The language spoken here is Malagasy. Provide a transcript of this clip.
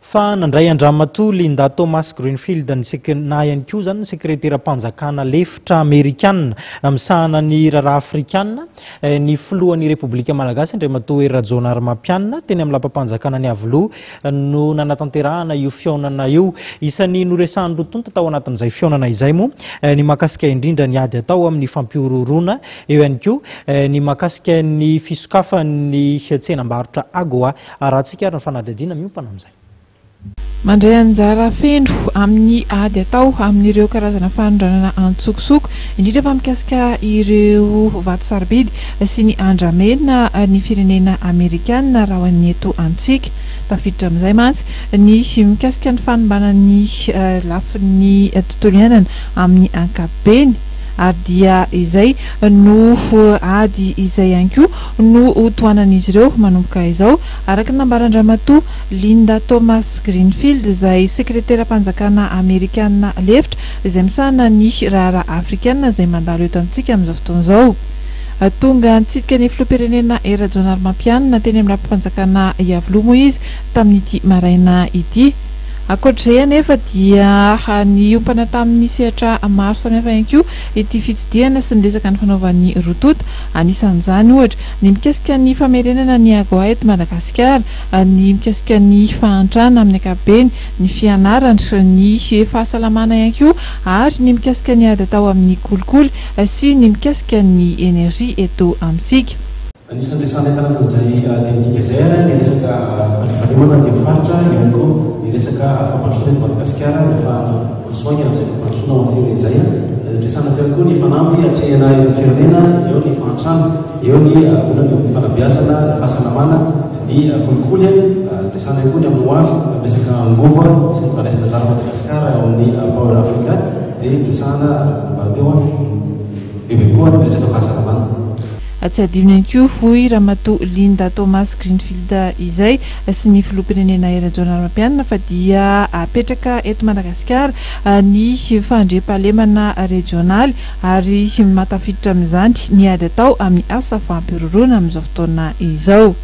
Fa nandray an-dRamatoa Linda Thomas-Greenfield ny sek na ihany koa izany ny sekreteram-panjakana lefitra amerikanina misahana ny raharaha afrikanina, ny filohan'ny Repoblika Malagasy Andriamatoa Hery Rajaonarimampianina teny amin'ny lapam-panjakana ny Iavoloha no nanatanterahana io fihaonana io. Isan'ny noresahan'ny roa tonta tao anatin'izay fihaonana izay moa ny mahakasika indrindra ny ady atao amin'ny fampihorohoroana, eo ihany koa ny mahakasika ny fisokafan'ny tsenam-barotra Agoa. Arahantsika ary ny fanadihadiana miompana amin'izay. Mandray anjara feno amin'ny ady atao amin'ireo karazana fanondranana antsokosoko, indrindra fa mikasika ireo vato sarobidy sy ny andramena ny firenena amerikana raha ho an'ny eto amintsika. Tafiditra amin'izay mantsy ny mikasika ny fanimbana ny lafiny tontolo iainana amin'ny ankapobeny ary dia izay no ady izay ihany koa no ho tohanan'izy ireo manomboka izao, araka ny nambaran-dRamatoa Linda Thomas-Greenfield izay sekreteram-panjakana amerikana lefitra izay misahana ny raharaha afrikana izay mandalo eto amintsika amin'izao fotoana izao. Tonga nitsidika ny filoham-pirenena Hery Rajaonarimampianina teny amin'ny lapam-panjakana Iavoloha moa izy tamin'ity maraina ity. Ankoatra izay anefa dia niompana tamin'ny sehatra maro samihafa ihany koa ity fitsidihana sy ny resaka nifanaovan'ny roa tonta. Anisan'izany, ohatra, ny mikasika ny famerenana ny AGOA eto Madagasikara, ny mikasika ny fahantrana amin'ny ankapobeny, ny fianarana, ny fahasalamana ihany koa ary ny mikasika ny ady atao amin'ny kolikoly sy ny mikasika ny energie eto amintsika. Anisan'ny resahana eto anatin'izay dinika izay ary ny resaka fandriampahalemana aty amin'ny faritra, eo ihany koa ny resaka fampandrosoana eto Madagasikara, ny ahafahana miroso haingana amin'izay fampandrosoana ao amin'ny firenena izay. Resahana teo ihany koa ny fanamby atrehina eto amin'ny firenena, eo ny fahantrana, eo ny olana eo amin'ny fanabeazana, ny fahasalamana, ny kolikoly. Resahana ihany koa ny amin'ny ho avy amin'ny resaka angovo sy ny fandraisana anjaran'i Madagasikara ao amin'ny Power Africa, dia resahana nambara teo bebe koa ny resaka fahasalamana. Tsy adino ihany koa, hoy Ramatoa Linda Thomas Greenfield izay sy ny filoham-pirenena Hery Rajaonarimampianina fa dia apetraka eto Madagasikara ny fandriampahalemana rejionaly ary mahatafiditra amin'izany ny ady atao amin'ny asa fampihorohoroana amin'izao fotoana izao.